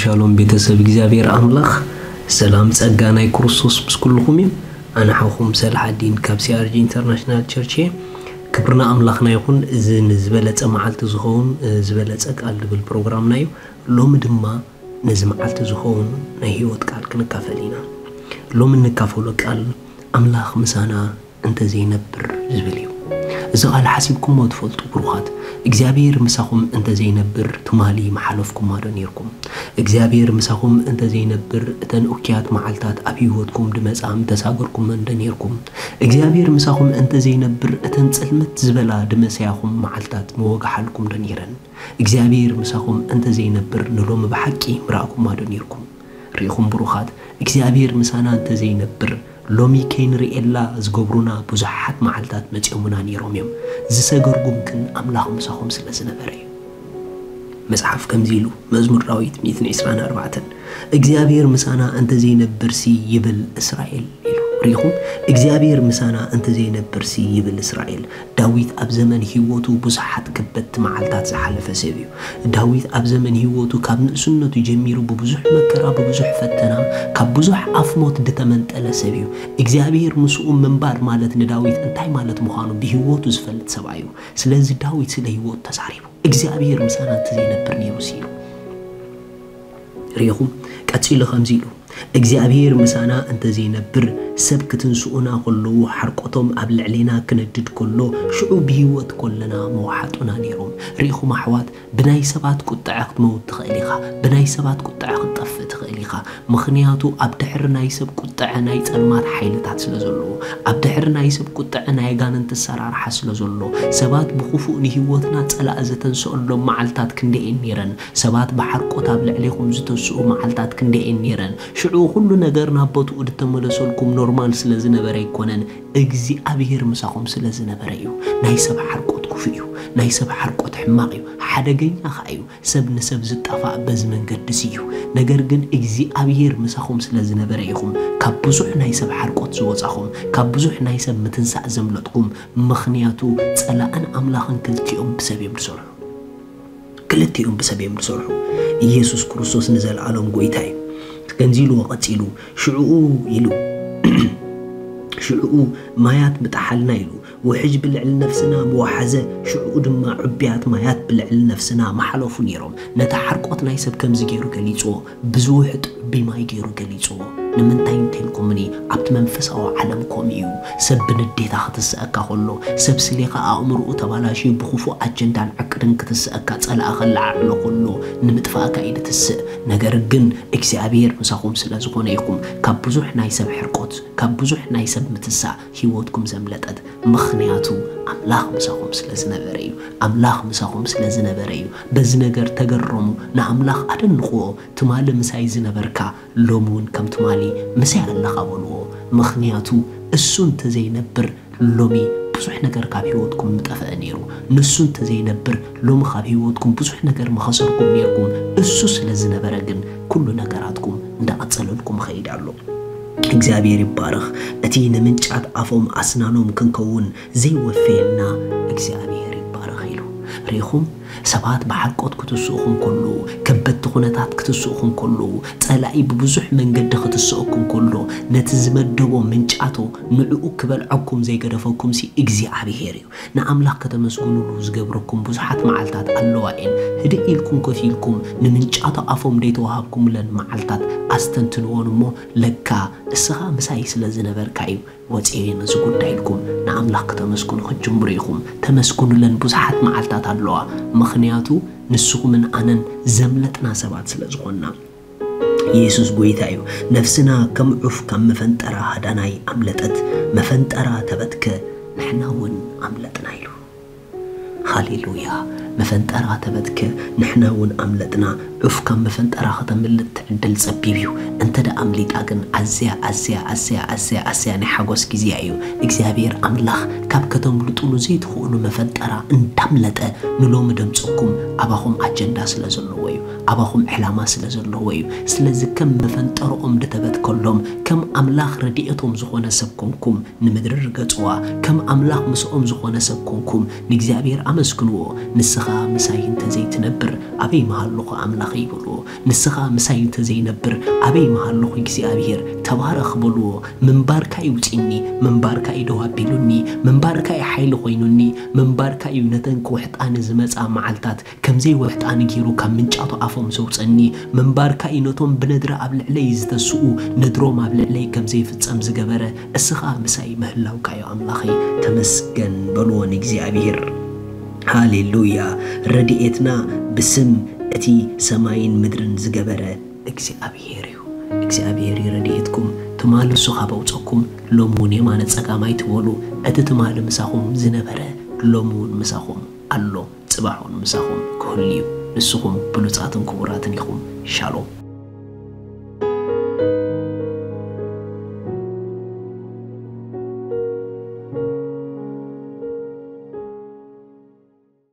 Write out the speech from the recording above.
ሻሎም ቤተሰብ እግዚኣብሔር ኣምላኽ፣ ሰላም ጸጋ ናይ ክርስቶስ ምስ ኩልኹም እዩ። ኣነ ሓውኹም ሰላሓዲን ካብ ሲኣርጂ ኢንተርናሽናል ቸርች እየ። ክብርና ኣምላኽና ይኹን። እዚ ንዝበለጸ መዓልቲ ዝኸውን፣ እ፣ ዝበለጸ ቃል ዝብል ፕሮግራምና እዩ። ሎሚ ድማ ነዚ መዓልቲ ዝኸውን ናይ ህይወት ቃል ክንካፈል ኢና። ሎሚ እንካፈሎ ቃል ኣምላኽ ምሳና እንተዘይነብር ዝብል እዩ። እዚ ቃል ሓሲብኩሞ ትፈልጡ ብሩኻት? እግዚኣብሔር ምሳኹም እንተዘይነብር ትማሊ ምሓለፍኩማ ዶ ኔርኩም? እግዚኣብሔር ምሳኹም እንተዘይነብር እተን እኩያት መዓልታት ኣብ ህይወትኩም ድመጻ ምተሳገርኩመን ዶ ኔርኩም? እግዚኣብሔር ምሳኹም እንተዘይነብር እተን ጽልምት ዝበላ ድመሰያኹም መዓልታት ምወጋሓልኩም ዶ ኔረን? እግዚኣብሔር ምሳኹም እንተዘይነብር ንሎሚ ብሓቂ ምረኣኩማ ዶ ኔርኩም? ርኢኹም ብሩኻት፣ እግዚኣብሔር ምሳና እንተዘይነብር ሎሚ ከይንርእየላ ዝገብሩና ብዙሓት መዓልታት መጺኦምና ኔሮም እዮም። ዝሰገርጉም ግን ኣምላኽ ምሳኹም ስለ ዝነበረ እዩ። መጽሓፍ ከምዚ ኢሉ፣ መዝሙር ዳዊት ሚእትን ዕስራን ኣርባዕተን እግዚኣብሔር ምሳና እንተዘይነብርሲ ይብል እስራኤል ኢሉ። ርኢኹም፣ እግዚኣብሔር ምሳና እንተዘይነብርሲ ይብል እስራኤል። ዳዊት ኣብ ዘመን ህይወቱ ብዙሓት ከበድቲ መዓልታት ዝሓለፈ ሰብ እዩ። ዳዊት ኣብ ዘመን ህይወቱ ካብ ንእስነቱ ጀሚሩ ብብዙሕ መከራ፣ ብብዙሕ ፈተና፣ ካብ ብዙሕ ኣፍ ሞት ዝተመንጠለ ሰብ እዩ። እግዚኣብሔር ምስኡ ምንባር ማለት ንዳዊት እንታይ ማለት ምዃኑ ብህይወቱ ዝፈልጥ ሰብኣይ እዩ። ስለዚ ዳዊት ስለ ህይወቱ ተዛሪቡ፣ እግዚኣብሔር ምሳና እንተዘይነብር ነይሩስ ኢሉ። ርኢኹም፣ ቀጺሉ ከምዚ ኢሉ፣ እግዚኣብሔር ምሳና እንተዘይነብር፣ ሰብ ክትንስኡና ከለዉ፣ ሓርቆቶም ኣብ ልዕሌና ክነድድ ከሎ፣ ሽዑ ብህይወት ከለና ምወሓጡና ነይሮም። ርኢኹም ኣሕዋት፣ ብናይ ሰባት ቁጥዐ ክትመውት ትኽእል ኢኻ፣ ብናይ ሰባት ቁጥዐ ክትጠፍእ ትኽእል ኢኻ። ምኽንያቱ ኣብ ድሕሪ ናይ ሰብ ቁጥዐ ናይ ጸልማት ሓይልታት ስለ ዘሎ፣ ኣብ ድሕሪ ናይ ሰብ ቁጥዐ ናይ ኣጋንንቲ ኣሰራርሓ ስለ ዘሎ፣ ሰባት ብኽፉእ ንህይወትና ጸላኢ ዘተንስኦሎም መዓልታት ክንደየን ነይረን። ሰባት ብሓርቆት ኣብ ልዕሌኹም ዝተስኡ መዓልታት ክንደየን ነይረን። ሽዑ ኩሉ ነገር ናብ ቦትኡ ዝተመለሰልኩም ኖርማል ስለ ዝነበረ ኣይኮነን፣ እግዚኣብሔር ምሳኹም ስለ ዝነበረ እዩ። ናይ ሰብ ሓርቆት ክፉእ እዩ። ናይ ሰብ ሓርቆት ሕማቕ እዩ፣ ሓደገኛ ኸኣ እዩ። ሰብ ንሰብ ዝጣፋእ በዚ መንገዲ እዚ እዩ። ነገር ግን እግዚኣብሔር ምሳኹም ስለ ዝነበረ ኢኹም ካብ ብዙሕ ናይ ሰብ ሓርቆት ዝወጻኹም፣ ካብ ብዙሕ ናይ ሰብ ምትንሳእ ዘምለጥኩም። ምኽንያቱ ጸላእን ኣምላኽን ክልቲኦም ብሰብ እዮም ዝሰርሑ። ክልቲኦም ብሰብ እዮም ዝሰርሑ። ኢየሱስ ክርስቶስ ንዘለኣሎም ጐይታ እዩ። ከምዚ ኢልዎ ቀጺሉ፣ ሽዕኡ ኢሉ፣ ሽዕኡ ማያት ምጠሓልና ኢሉ፣ ውሕጅ ብልዕሊ ነፍስና ምወሓዘ፣ ሽዕኡ ድማ ዕቡያት ማያት ብልዕሊ ነፍስና ምሓለፉ ነይሮም። ነቲ ሓርቆት ናይ ሰብ ከምዚ ገይሩ ገሊጽዎ፣ ብዝውሕጥ ዕቡይ ማይ ገይሩ ገሊጽዎ። ንምንታይ እንተልኩምኒ፣ ኣብቲ መንፈሳዊ ዓለም ከምኡ እዩ። ሰብ ብንዴታ ክትስአካ ከሎ፣ ሰብ ስሌኻ ኣእምሮኡ ተባላሽዩ ብኽፉእ ኣጀንዳን ዕቅድን ክትስአካ ጸላኢ ከለዓዕሎ ከሎ፣ ንምጥፋእካ እዩ ዝትስእ። ነገር ግን እግዚኣብሔር ምሳኹም ስለ ዝኾነ ኢኹም ካብ ብዙሕ ናይ ሰብ ሕርቆት፣ ካብ ብዙሕ ናይ ሰብ ምትሳእ ህይወትኩም ዘምለጠት። ምኽንያቱ ኣምላኽ ምሳኹም ስለ ዝነበረ እዩ። ኣምላኽ ምሳኹም ስለ ዝነበረ እዩ። በዚ ነገር ተገረሙ፣ ንኣምላኽ ኣደንቕዎ። ትማሊ ምሳይ ዝነበርካ ሎሚ እውን ከም ትማሊ ምሳይ ኣለኻ በልዎ። ምኽንያቱ እሱ እንተዘይነብር ሎሚ ብዙሕ ነገር ካብ ህይወትኩም ምጠፍአ ነይሩ። ንሱ እንተዘይነብር ሎሚ ካብ ህይወትኩም ብዙሕ ነገር ምኸሰርኩም ነይርኩም። እሱ ስለ ዝነበረ ግን ኩሉ ነገራትኩም እንዳቐጸለልኩም ይኸይድ ኣሎ። እግዚኣብሔር ይባረኽ። እቲ ንምንጫት ኣፎም ኣስናኖም ክንከውን ዘይወፈየና እግዚኣብሔር ይባረኽ ኢሉ። ርኢኹም፣ ሰባት ብሓርቆት ክትስእኹም ከለዉ፣ ከበድቲ ኩነታት ክትስእኹም ከለዉ፣ ጸላኢ ብብዙሕ መንገዲ ክትስእኩም ከሎ፣ ነቲ ዝመደቦ ምንጫቶ ንዕኡ ክበልዐኩም ዘይገደፈኩምሲ እግዚኣብሔር እዩ። ንኣምላኽ ከተመስግኑሉ ዝገብረኩም ብዙሓት መዓልታት ኣለዋ እየን። ህድእ ኢልኩም ኮፍ ኢልኩም ንምንጫቶ ኣፎም ደይተዋሃብኩምለን መዓልታት ኣስተንትንዎን እሞ፣ ለካ እስኻ ምሳይ ስለ ዝነበርካ እዩ ወፂኤ ነዚ ጉዳይ ኢልኩም ንኣምላኽ ከተመስግኑ ክትጅምሩ ኢኹም። ተመስግኑለን ብዙሓት መዓልታት ኣለዋ፣ ምኽንያቱ ንስኹምን ኣነን ዘምለጥና ሰባት ስለ ዝኾንና። ኢየሱስ ጐይታ እዩ። ነፍስና ከም ዑፍ ካብ መፈንጠራ ሃዳናይ ኣምለጠት፣ መፈንጠራ ተበትከ፣ ንሕና እውን ኣምለጥና ኢሉ። ሃሌሉያ! መፈንጠራ ተበትከ፣ ንሕና እውን ኣምለጥና። ዑፍ ካብ መፈንጠራ ከተምልጥ ትዕድል ጸቢብ እዩ። እንተ ደኣ ኣምሊጣ ግን ኣዝያ፣ ኣዝያ፣ ኣዝያ፣ ኣዝያ፣ ኣዝያ ናይ ሓጎስ ግዜያ እዩ። እግዚኣብሔር ኣምላኽ ካብ ከተምልጡሉ ዘይትኽእሉ መፈንጠራ እንዳምለጠ ንሎሚ ደምጽኩም ኣባኹም ኣጀንዳ ስለ ዘለዎ እዩ። ኣባኹም ዕላማ ስለ ዘለዎ እዩ። ስለዚ ከም መፈንጠርኦም ዝተበትከሎም፣ ከም ኣምላኽ ረድኤቶም ዝኾነ ሰብ ኮንኩም ንምድሪ ርገጽዋ። ከም ኣምላኽ ምስኦም ዝኾነ ሰብ ኮንኩም ንእግዚኣብሔር ኣመስግንዎ። ንስኻ ምሳይ እንተዘይትነብር ኣበይ ምሃለኹ ኣምላኸይ በልዎ። ንስኻ ምሳይ እንተዘይነብር ኣበይ ምሃለኹ እግዚኣብሔር፣ ተባረኽ በልዎ። ምንባርካ እዩ ውጺኒ፣ ምንባርካ እዩ ደው ኣቢሉኒ፣ ምንባርካ እዩ ሓይሊ ኮይኑኒ፣ ምንባርካ እዩ ነተን ክውሕጣኒ ዝመጻ መዓልታት ከም ዘይወሕጣኒ ገይሩ ካብ ምንጫቱ ኣፎም ዘውጸኒ፣ ምንባርካ እዩ ነቶም ብነድሪ ኣብ ልዕለይ ዝተስኡ ነድሮም ኣብ ልዕለይ ከም ዘይፍጸም ዝገበረ፣ እስኻ ምሳይ ምህላውካ እዩ ኣምላኸይ፣ ተመስገን በልዎ ንእግዚኣብሔር። ሃሌሉያ። ረድኤትና ብስም እቲ ሰማይን ምድርን ዝገበረ እግዚኣብሔር እዩ። እግዚኣብሔር እዩ ረድኤትኩም። ትማሊ እሱ ካብ ኣውፀኩም ሎም እውን የማነ ጸጋም ኣይትበሉ። እቲ ትማሊ ምሳኹም ዝነበረ ሎም እውን ምሳኹም ኣሎ፣ ጽባሕ እውን ምሳኹም ክህሉ እዩ። ንስኹም ብሉጻትን ክቡራትን ኢኹም። ሻሎም።